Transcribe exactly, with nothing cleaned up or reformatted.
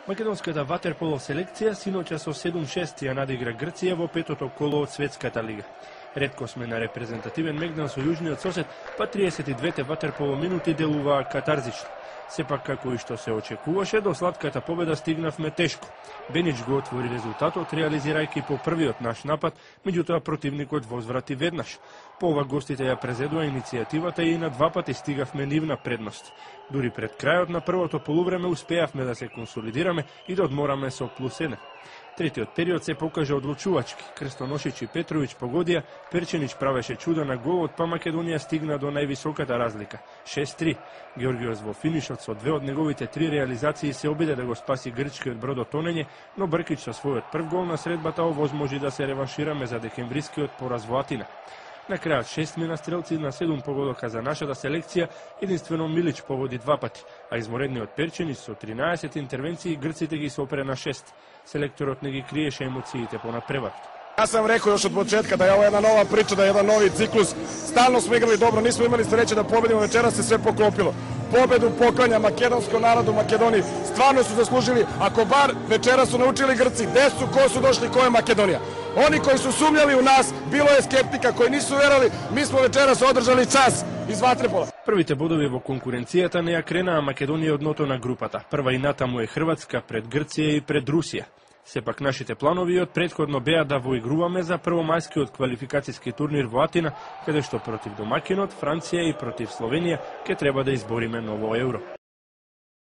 Македонската ватерполо селекција синоќа со седум шест ја надигра Грција во петото коло од Светската лига. Ретко сме на репрезентативен мегдан со јужниот сосед, па триесет и двете ватерполо минути делуваа катарзично. Сепак, како и што се очекуваше, до сладката победа стигнавме тешко. Бенич го отвори резултатот, реализирајќи по првиот наш напад, меѓутоа противникот возврати веднаш. По ова гостите ја презедува иницијативата и на два пати стигавме нивна предност. Дури пред крајот на првото полувреме успеавме да се консолидираме и да одмораме со плюс еден. Третиот период се покажа одлучувачки. Крстоношич и Петровиќ погодија, Перченич правеше чуда на голот, па Македонија стигна до највисоката разлика – шест три. Георгиос во финишот со две од неговите три реализации се обиде да го спаси грчкиот брод од тонење, но Бркич со својот прв гол на средбата овозможи да се реваншираме за декемврискиот пораз во Атина. На крајот шест мина стрелци на седум погодока за нашата селекција, единствено Милич погоди два пати, а изморедниот Перченич со тринаесет интервенции грците ги сопре на шест. Селекторот не ги криеше емоциите по надпреварот. Јас сам рекол још од почетка да е ова една нова прича, да е еден нови циклус. Стално сме играли добро, нисмо имали среќа да победиме, вечера се све поклопило. Победу поклanja македонско народу Македонија. Стварно су заслужили, ако бар вечера су научили Грци, де су, ко су дошли, кој е Македонија. Они кои су сумњали у нас, било е скептика, кои нису верали, ми смо вечера се одржали час из ватрепола. Првите бодови во конкуренцијата не ја кренаа Македонија од дното на групата. Прва и натаму е Хрватска, пред Грција и пред Русија. Сепак нашите планови од претходно беа да воигруваме за првомајскиот квалификацијски турнир во Атина, каде што против домакинот Франција и против Словенија ќе треба да избориме ново евро.